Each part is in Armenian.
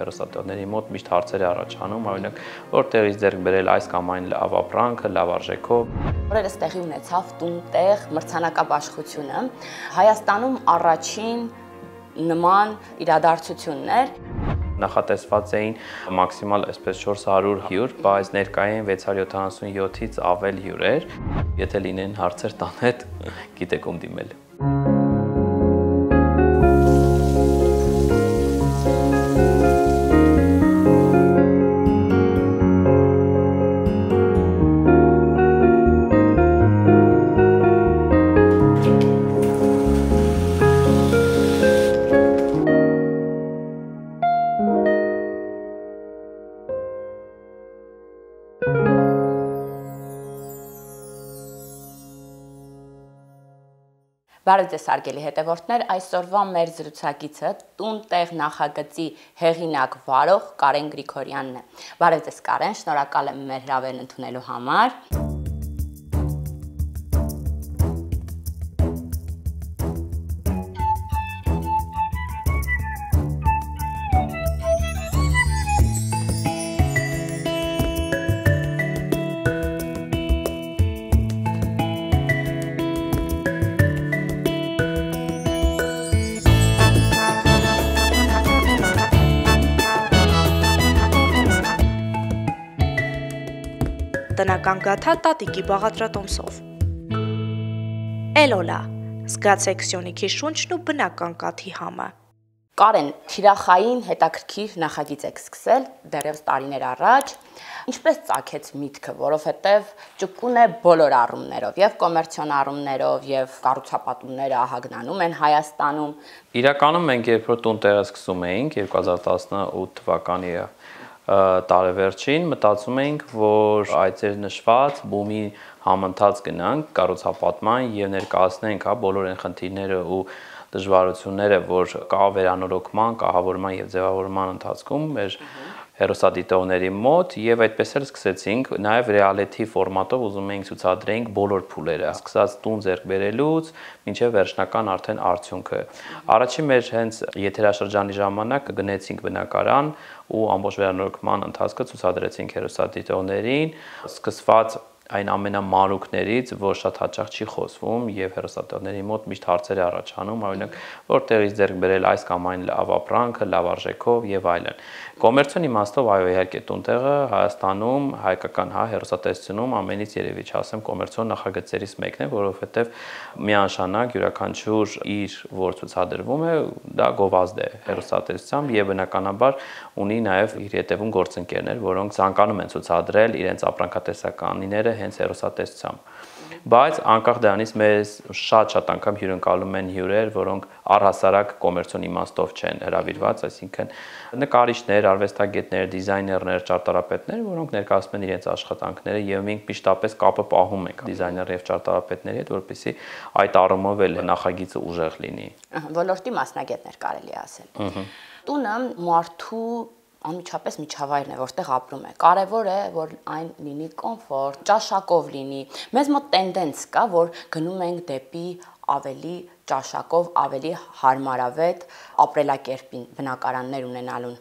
Հեռուստատողների մոտ միշտ հարցեր է առաջանում, օրինակ, որտեղից ձեռք բերել այս կամ այն լավ ապրանքը, լավ արժեքով։ Օրերս տեղի ունեցավ տուն-տեղ մրցանակաբաշխությունը, Հայաստանում առաջին նման իրադարձությունն էր։ Նախատեսված էին մաքսիմալ այսպես 400 հյուր, բայց ներկային 677-ից ավել հյուրեր։ Եթե լինեն հարցեր տան հետ, գիտեք ում դիմել։ Բարև ձեզ հարգելի հետևորդներ, այսօրվա մեր զրուցակիցը տուն-տեղ նախագծի հեղինակ վարող Կարեն Գրիգորյանն է։ Բարև ձեզ Կարեն, շնորհակալ եմ մեր հրավերն ընդունելու համար։ Տնական գաթա տատիկի բաղադրատոմսով։ Էլոլա, զգացեք Սյունիքի շունչն ու բնական կաթի համը։ Կարեն, թիրախային հետաքրքիր նախագիծ եք սկսել դեռևս տարիներ առաջ։ Ինչպես ծագեց միտքը, որովհետև ճկուն է բոլոր առումներով, եւ կոմերցիոն առումներով, եւ կառուցապատումները ահագնանում են Հայաստանում։ Իրականում մենք երբ որ տուն-տեղը սկսում էինք 2018 թվականի տարեվերջին մտածում էինք, որ այդ ձեր նշված բումի համընթաց գնանք կառուցապատման եւ ներկայացնենք բոլոր այն խնդիրները ու դժվարությունները, որ կա վերանորոգման, կահավորման եւ ձևավորման ընթացքում մեր հեռուստադիտողների մոտ եւ այդպես էլ սկսեցինք նաեւ reality ֆորմատով ուզում էինք ցուցադրենք բոլոր փուլերը, սկսած տուն ձեռք բերելուց մինչեւ վերջնական արդեն արդյունքը։ Առաջին մեր հենց եթերաշրջանի ժամանակ գնացինք բնակարան ու ամբողջ վերանորոգման ընթացքը ցուցադրեցինք հեռուստադիտողներին, սկսված այն ամենամանուկներից, որ շատ հաճախ չի խոսվում եւ հեռուստատողների մոտ միշտ հարցեր է առաջանում, օրինակ, որտեղից ձեռք բերել այս կամ այն լավ ապրանքը, լավ արժեքով եւ այլն։ Կոմերցիոն իմաստով այո, իհարկե տուն-տեղը Հայաստանում, հայկական հեռուստատեսությունում ամենից երևի չասեմ կոմերցիոն նախագծերից մեկն է, որովհետեւ միանշանակ յուրաքանչյուր իր որ ցուցադրվում է, դա գովազդ է հեռուստատեսությամբ եւ բնականաբար ունի նաեւ իր հետևում գործընկերներ, որոնք ցանկանում են ցուցադրել իրենց ապրանքատեսականիները հենց հեռուստատեսությամբ։ Բայց անկախ դրանից մեզ շատ անգամ հյուրընկալում են հյուրեր, որոնք առհասարակ կոմերցիոն իմաստով չեն հրավիրված, այսինքն նկարիչներ, արվեստագետներ, դիզայներներ, ճարտարապետներ, որոնք ներկայացնում են իրենց աշխատանքները եւ մենք միշտապես կապը պահում ենք դիզայներ եւ ճարտարապետների հետ, որպեսզի այդ առումով էլ նախագիծը ուժեղ լինի։ Ոլորտի մասնագետներ կարելի է ասել։ Տունը մարդու անմիջապես միջավայրն է, որտեղ ապրում է։ Կարևոր է, որ այն լինի կոմֆորտ, ճաշակով լինի։ Մեզ մոտ տենդենց կա, որ գնում ենք դեպի ավելի ճաշակով, ավելի հարմարավետ ապրելակերպին բնակարաններ ունենալուն։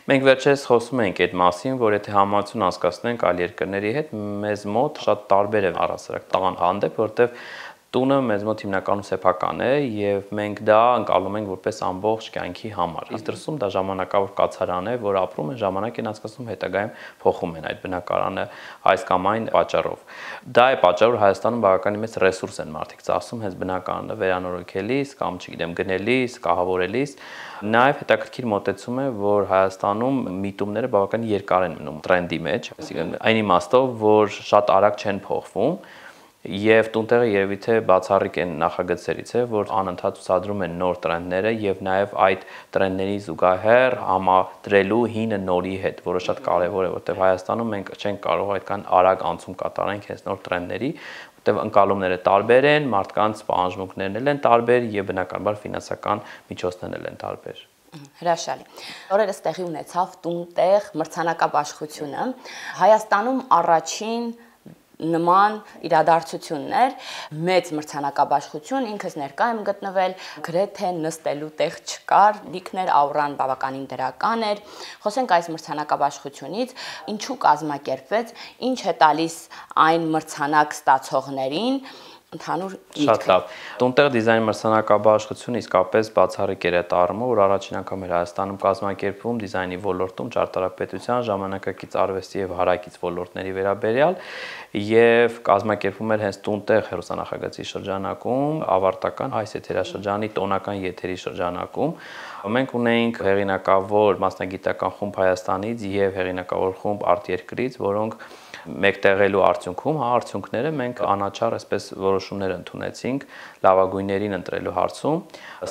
Մենք վերջերս խոսում ենք այդ մասին, որ եթե համացություն անցկացնենք այլ երկրների հետ, մեզ մոտ շատ տարբեր է առհասարակ տան հանդեպ, որտեղ տունը մեզ մոտ հիմնականում սեփական է եւ մենք դա ընկալում ենք որպես ամբողջ կյանքի համար։ Իսկ դրսում դա ժամանակավոր կացարան է, որ ապրում են, ժամանակ են անցկացնում, հետագայում փոխում են այդ բնակարանը այս կամ այն պատճառով։ Դա է պատճառը, որ Հայաստանում բավականին մեծ ռեսուրս են մարդիկ ծախսում հենց բնակարանը վերանորոգելիս կամ չգիտեմ գնելիս, կահավորելիս։ Նաև հետաքրքիր մոտեցում է, որ Հայաստանում միտումները բավականին երկար են մնում տրենդի մեջ, այսինքն այն իմաստով, որ շատ արագ չեն փոխվում։ Եվ տուն-տեղը երևի թե բացառիկ են նախագծերից է, որ անընդհատ ցուցադրում են նոր տրենդները եւ նաեւ այդ տրենդների զուգահեռ համադրելու հինը նորի հետ, որը շատ կարեւոր է, որտեղ Հայաստանում մենք չենք կարող այդքան արագ անցում կատարենք հենց նոր տրենդների, որտեղ ընկալումները տարբեր են, մարդկանց պահանջմունքներն էլ են տարբեր եւ բնականաբար ֆինանսական միջոցներն էլ են տարբեր։ Հրաշալի։ Օրերս տեղի ունեցավ տուն-տեղ մրցանակաբաշխությունը, Հայաստանում առաջին նման իրադարձություններ, մեծ մրցանակաբաշխություն, ինքս ներկա եմ գտնվել, գրեթե նստելու տեղ չկար, լիքներ աուրան բավականին դրական էր։ Խոսենք այս մրցանակաբաշխությունից, ինչու կազմակերպվեց, ինչ է տալիս այն մրցանակ ստացողներին, ընդհանուր Շատ լավ։ Տունտեղ դիզայն մրցանակաբաշխությունը իսկապես բացառիկ էր այդ առումով, որ առաջին անգամ էր Հայաստանում կազմակերպվում դիզայնի ոլորտում ճարտարապետության, ժամանակակից արվեստի եւ հարակից ոլորտների վերաբերյալ եւ կազմակերպվում էր հենց տունտեղ հեռուստանախագծի շրջանակում, ավարտական այս եթերաշրջանի տոնական եթերի շրջանակում։ Մենք ունեինք հեղինակավոր մասնագիտական խումբ Հայաստանից եւ հեղինակավոր խումբ արտերկրից, որոնք մեկտեղելու արդյունքում, արդյունքները մենք անաչառ այսպես որոշումներ ընդունեցինք լավագույններին ընտրելու հարցում։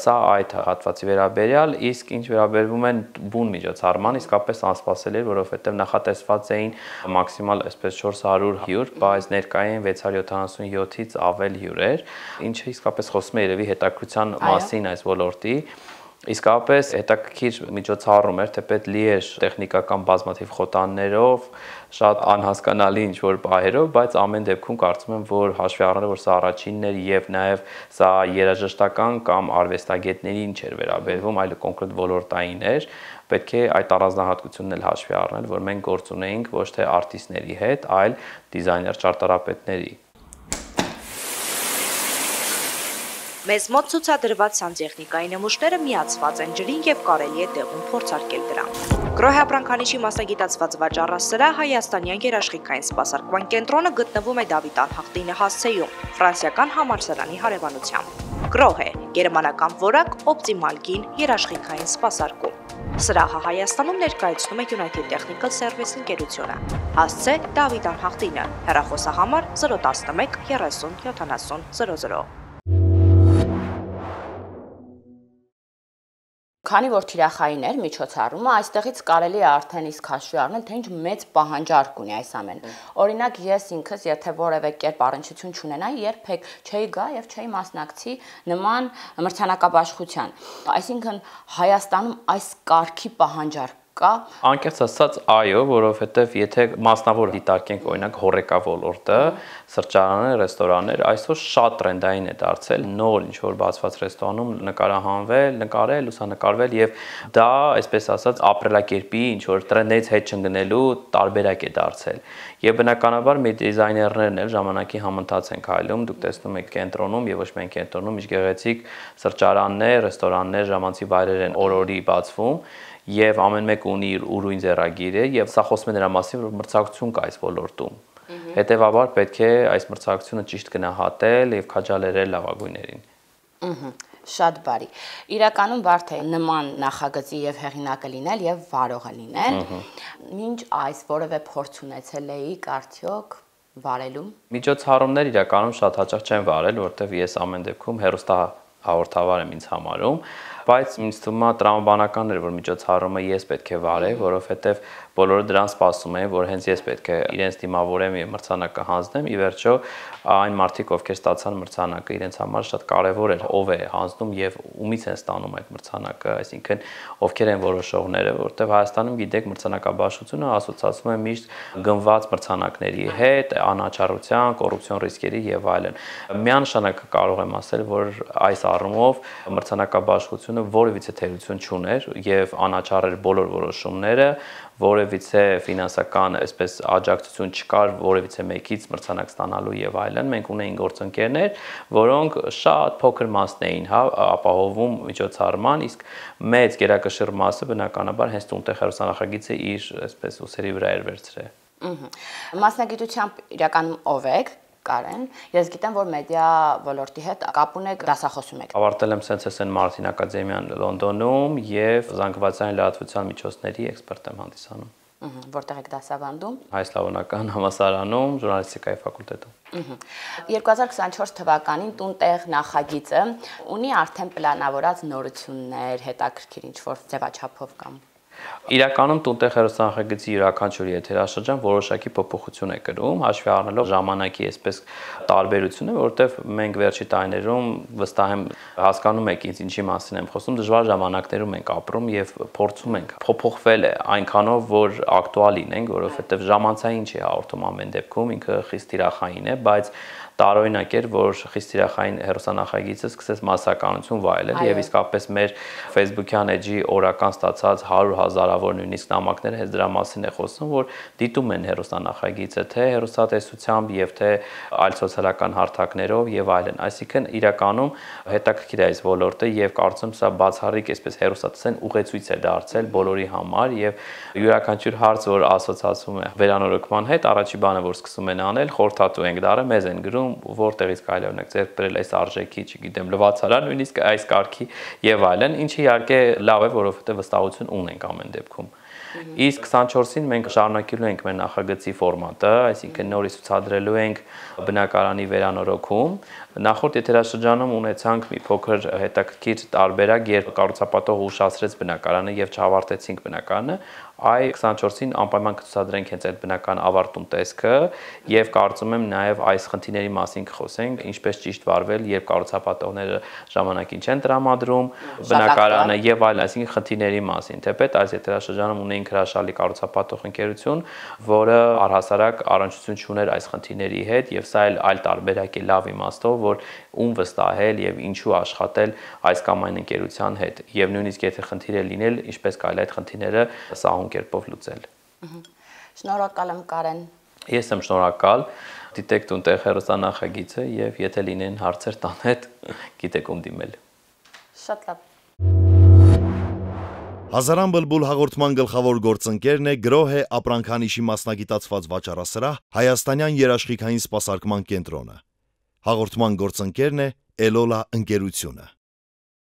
Սա այդ հատվածի վերաբերյալ, իսկ ինչ վերաբերվում է բուն միջոցառման, իսկապես անսպասելի էր, որովհետև նախատեսված էին մաքսիմալ այսպես 400 հյուր, բայց ներկային 677-ից ավել հյուրեր, ինչը իսկապես խոսում է երևի հետաքրության մասին այս ոլորտի։ Իսկապես հետաքրքիր միջոցառում էր, թեպետ լի էր տեխնիկական բազմաթիվ խոտաններով, շատ անհասկանալի ինչ-որ պահերով, բայց ամեն դեպքում կարծում եմ, որ հաշվի առնելով, որ սա առաջինն էր եւ նաեւ սա երաժշտական կամ արվեստագետներին չէր վերաբերվում, այլ կոնկրետ ոլորտային էր, պետք է այդ առանձնահատկությունն էլ հաշվի առնել, որ մենք գործ ունեինք ոչ թե արտիստների հետ, այլ դիզայներ ճարտարապետների։ Մեզ մոտ ցուցադրված սանտեխնիկայի նմուշները միացված են ջրին եւ կարելի է տեղում փորձարկել դրանք։ Գրոհի ապրանքանիշի մասնագիտացված վաճառասրահ Հայաստանյան երաշխիքային սպասարկման կենտրոնը գտնվում է Դավիթ անհախտինը հասցեում, ֆրանսիական համալսարանի հարևանությամբ։ Գրոհ է գերմանական որակ օպտիմալ գին երաշխիքային սպասարկում։ Սրահը Հայաստանում ներկայացնում է United Technical Service ընկերությունը։ Հասցե Դավիթ անհախտինը, հեռախոսահամար 011 30 70 00։ Քանի որ թիրախային էր միջոցառումը, այստեղից կարելի է արդեն իսկ հաշվի առնել, թե ինչ մեծ պահանջարկ ունի այս ամենը։ Օրինակ ես ինքս, եթե որևէ կերպ առնչություն չունենայի, երբեք չէի գա եւ չէի մասնակցի նման մրցանակաբաշխության։ Այսինքն Հայաստանում այս կարգի պահանջարկ կա։ Անկեղծ ասած, այո, որովհետև եթե մասնավոր դիտարկենք օրինակ հոռեկա ոլորտը, սրճարաններ, ռեստորաններ, այսօր շատ տրենդային է դարձել նոր ինչ-որ բացված ռեստորանում նկարահանվել, նկարել, լուսանկարվել եւ դա, այսպես ասած, ապրելակերպի ինչ-որ տրենդներից հետ չընկնելու տարբերակ է դարձել։ Եվ բնականաբար մեր դիզայներներն էլ ժամանակի համընթաց են քայլում, դուք տեսնում եք կենտրոնում եւ ոչ միայն կենտրոնում, ինչ գեղեցիկ սրճարաններ, ռեստորաններ, ժամանցի վայրեր են օր-օրի բացվում եւ ամեն մեկ ունի իր ուրույն ձեռագիրը եւ սա խոսում է նրա մասին, որ մրցակցություն կա այս ոլորտում։ Հետևաբար պետք է այս մրցակցությունը ճիշտ գնահատել եւ քաջալերել լավագույններին։ Շատ բարի։ Իրականում բարդ է նման նախագծի եւ հեղինակը լինել եւ վարողը լինել։ Մինչ այս որևէ փորձ ունեցել էիք արդյոք վարելում։ Միջոցառումներ իրականում շատ հաճախ չեն վարել, որովհետեւ ես ամեն դեպքում հեռուստա հաղորդավար եմ ինձ համարում, բայց ինձ թվում է տրամաբանական էր, որ միջոցառումը ես պետք է վարեի, որովհետև բոլորը դրան սպասում էին, որ հենց ես պետք է իրենց դիմավորեմ եւ մրցանակը հանձնեմ։ Ի վերջո այն մարդիկ, ովքեր ստացան մրցանակը, իրենց համար շատ կարեւոր էր ով է հանձնում եւ ումից են ստանում այդ մրցանակը, այսինքն ովքեր են որոշողները, որովհետեւ Հայաստանում գիտեք մրցանակաբաշխությունը ասոցացվում է միշտ գնված մրցանակների հետ, անաչառության, կոռուպցիոն ռիսկերի եւ այլն։ Միանշանակ կարող եմ ասել, որ այս առումով մրցանակաբաշխությունը որևիցե թերություն չուներ եւ անաչառ էր բոլոր որոշումները, որևիցե ֆինանսական այսպես աջակցություն չկար որևիցե մեկից մրցանակ ստանալու եւ այլն։ Մենք ունեինք գործընկերներ, որոնք շատ փոքր մասն էին, ապահովում միջոցառման, իսկ մեծ գերակշիռ մասը բնականաբար հենց տունտեղ հեռուստանախագիծը իր այսպես ուսերի վրա էր վերցրել։ Մասնագիտությամբ իրականում ով եք, Կարեն, ես գիտեմ, որ մեդիա ոլորտի հետ կապ ունեք, դասախոսում եք։ Ավարտել եմ Սենսեսեն Մարտին ակադեմիան Լոնդոնում եւ զանգվածային լրատվության միջոցների էքսպերտ եմ հանդիսանում։ Որտեղ եք դասավանդում։ Հայ սլավոնական համալսարանում, ժուրնալիստիկայի ֆակուլտետում։ 2024 թվականին տունտեղ նախագիծը ունի արդեն պլանավորած նորություններ, հետաքրքիր ինչ-որ ձևաչափով կամ։ Իրականում տունտեղ հեռուստանախագծի յուրաքանչյուր եթերաշրջան որոշակի փոփոխություն է կրում, հաշվի առնելով ժամանակի այսպես տարբերությունը, որովհետև մենք վերջի տարիներում վստահ եմ հասկանում եք ինձ ինչի մասին եմ խոսում, դժվար ժամանակներում ենք ապրում եւ փորձում ենք փոփոխվել է այնքանով, որ ակտուալ լինենք, որովհետև ժամանցային չի հաղորդում ամեն դեպքում, ինքը խիստ թիրախային է, բայց տարօրինակ էր, որ խիստ թիրախային հեռուստանախագիծը սկսեց մասսականություն վայելել եւ իսկապես մեր Facebook-յան էջի օրական ստացած 100,000-ավոր նույնիսկ նամակները հենց դրա մասին է խոսում, որ դիտում են հեռուստանախագիծը թե հեռուստատեսությամբ եւ թե այլ սոցիալական հարթակներով եւ այլն։ Այսինքն իրականում հետաքրքիր է այս ոլորտը եւ կարծում սա բացառիկ այսպես հեռուստատեսային ուղեցույց է դարձել բոլորի համար եւ յուրաքանչյուր հարց, որ ասոցացվում է վերանորոգման հետ, առաջի բանը, որ սկսում են անել, խորհրդատու ենք դարը, մեզ են գրում որտեղից կարելի է օրինակ ձեռք բերել այս արժեքի, չգիտեմ, լվացարան, նույնիսկ այս կարգի եւ այլն, ինչը իհարկե լավ է, որովհետեւ վստահություն ունենք ամեն դեպքում։ Իսկ 24-ին մենք շարունակելու ենք մեր նախագծի ֆորմատը, այսինքն նորից ցուցադրելու ենք բնակարանի վերանորոգում։ Նախորդ եթերաշրջանում ունեցանք մի փոքր հետաքրքիր տարբերակ, երբ կառուցապատողը ուշացրեց բնակարանը եւ չավարտեցինք բնակարանը, այ 24-ին անպայման կցուցադրենք հենց այդ բնական ավարտուն տեսքը եւ կարծում եմ նաեւ այս խնդիրների մասին կխոսենք, ինչպես ճիշտ վարվել, երբ կառուցապատողները ժամանակին չեն տրամադրում բնակարանը եւ այլ, այսինքն խնդիրների մասին։ Թեպետ այս եթերաշրջանում ունեինք հրաշալի կառուցապատող ընկերություն, որը առհասարակ առնչություն չուներ այս խնդիրների հետ եւ սա այլ տարբերակ է լավ իմաստով, որ ում վստահել եւ ինչու աշխատել այս կամ այն ընկերության հետ եւ նույնիսկ եթե խնդիր է լինել, ինչպես կարելի է այդ խնդիրները սահուն կերպով լուծել։ Շնորհակալ եմ Կարեն։ Ես եմ շնորհակալ, դիտեք տունտեղ հեռուստանախագիծը եւ եթե լինեն հարցեր տան հետ, գիտեք ում դիմել։ Շատ լավ։ Հազարան բլբուլ հաղորդման գլխավոր գործընկերն է Գրոհե ապրանքանիշի մասնագիտացված վաճառասրահ Հայաստանյան երաշխիքային սպասարկման կենտրոնը։ Հաղորդման գործընկերն է Էլոլա ընկերությունը։